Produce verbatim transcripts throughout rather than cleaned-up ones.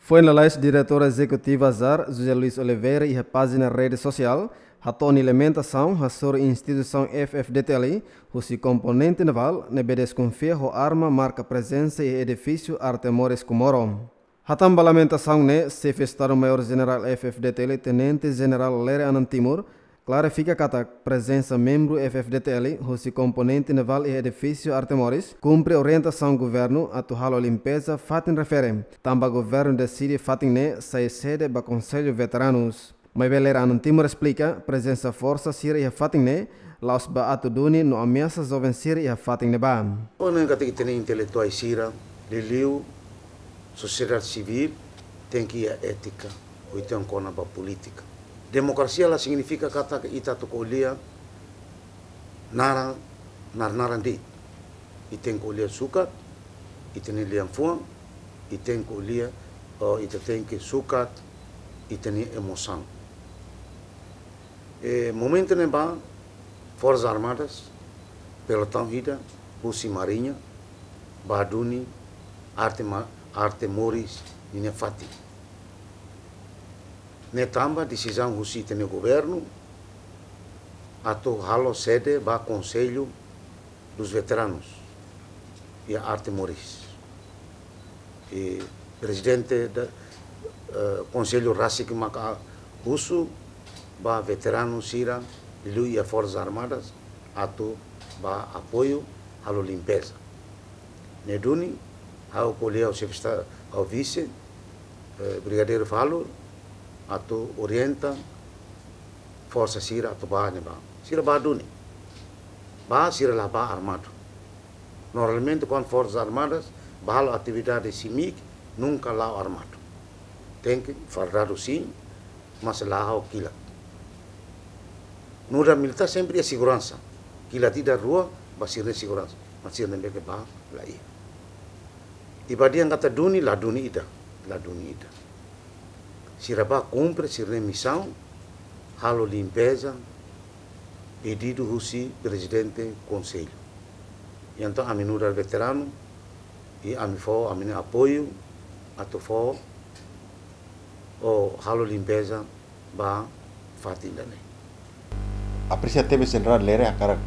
Foin lalais Diretór Ezekutivu ASAR, José Luis Oliveira, iha pájina rede sosiál, hato'o nia lamentasaun hasoru instituisaun F-FDTL husi komponente navál ne'ebé deskonfia ho arma marka prezensa iha edifísiu Arte Moris Comoro. Hatán ba lamentasaun ne'e, Xefe Estadu-Maiór Jenerál F-FDTL, Tenente Jenerál Lere Anan Timur, klarifika katak prezensa membru F-FDTL husi komponente navál iha edifísiu Arte Moris kumpre orientasaun governu atu halo limpeza fatin refere, tanba governu deside fatin ne'e sai sede ba Konsellu Veteranus. Maibé Lere Anan Timur esplika, prezensa forsa sira iha fatin ne'e la'ós ba atu duni no ameasa joven sira iha fatin ne'ebá. Ona katak ita-nia intelektuál sira, liuliu sosiedade sivíl, tenke iha étika, ou entaun kona-ba polítika. Demokrasia la signifika katak ita atu ko'alia naran, nar-naran de'it. Ita tenke ko'alia sukat ita-nia lian-fuan, ita tenke ko'alia, ou ita tenke sukat ita-nia emosaun. E momentu ne'ebá, Forsas Armadas, pelotaun ida husi Mariña, bá duni Arte Ma-, Arte Moris ninia fatin. Ne'e tanba desizaun husi ita-nia governu atu halo sede ba Konsellu dos Veteranus iha Arte Moris. I prezidente da, eh, Konsellu rasik maka husu ba veteranu sira liuliu iha Forsas Armadas atu bá apoiu halo limpeza. Ne'e duni, ha'u ko'alia ho Xefe Estadu, ho Vise, eh, Brigadeiru Falur, atu orienta forsa sira atu bá ne'ebá. Sira bá duni. Bá, sira la bá armadu. Normalmente, kuandu Forsas Armadas bá halo atividade SIMIC, nunka la'o armadu. Tenke fardadu sin, mas la ho kilat. Nu'udar militár sempre iha seguransa. Kilat ida rua ba sira-nia seguransa. Mas sira ne'ebé ke bá la iha. I ba dehan katak duni, la duni ida, la duni ida. Sira bá kumpre sira-nia misaun, halo limpeza, pedidu husi prezidente konsellu. I entaun ami nu'udar veteranu, i ami fó ami-nia apoiu, atu fó, ou halo limpeza ba fatin ida-ne'e. Apresia tebes Jenerál Lere hakarak,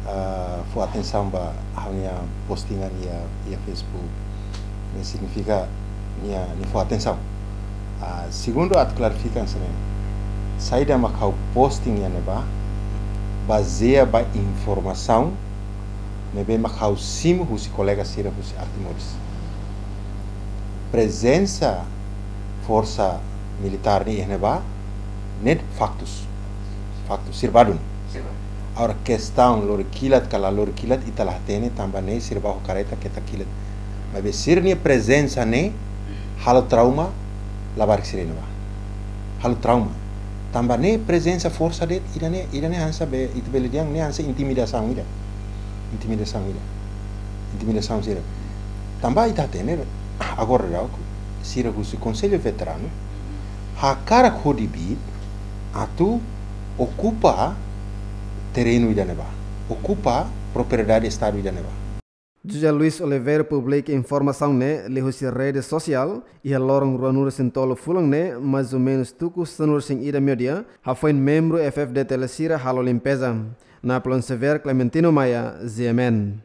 ah, fó atensaun ba ha'u-nia postingan iha, iha Facebook. Ne'e signifika nia, nia fó atensaun. Ah, segundu atu klarifika hanesan ne'e. Saida mak ha'u posting iha ne'ebá, bazeia ba informasaun ne'ebé mak ha'u simu husi kolega sira husi Arte Moris. Prezensa forsa militár ne'e iha ne'ebá, ne'e faktus. Faktus, sira bá duni. Sira bá. Agora, kestaun lori kilat ka la lori kilat, ita la hatene, tanba ne'e sira bá ho kareta keta kilat. Maibé sira-nia prezensa ne'e halo trauma labarik sira iha ne'ebá. Halo trauma. Tanba ne'e prezensa forsa de'it, ida-ne'e, ida-ne'e hanesan be, ita bele dehan ne'e hanesan intimidasaun ida. Intimidasaun ida. Intimidasaun sira. Tanba ita hatene, agora daudaun, sira husi Konsellu Veteranu hakarak hodi biit atu okupa terrenu ida ne'ebá. Okupa propriedade Estadu ida ne'ebá. José Luis Oliveira publika informasaun ne'e liuhusi rede sosiál, iha loron ruanulu-resin-tolu fulan ne'e, mais ou menus tuku sanulu-resin-ida meiudia, hafoin membru F-FDTL sira halo limpeza. Napoleon Xavier, Clementino Maia, G M N.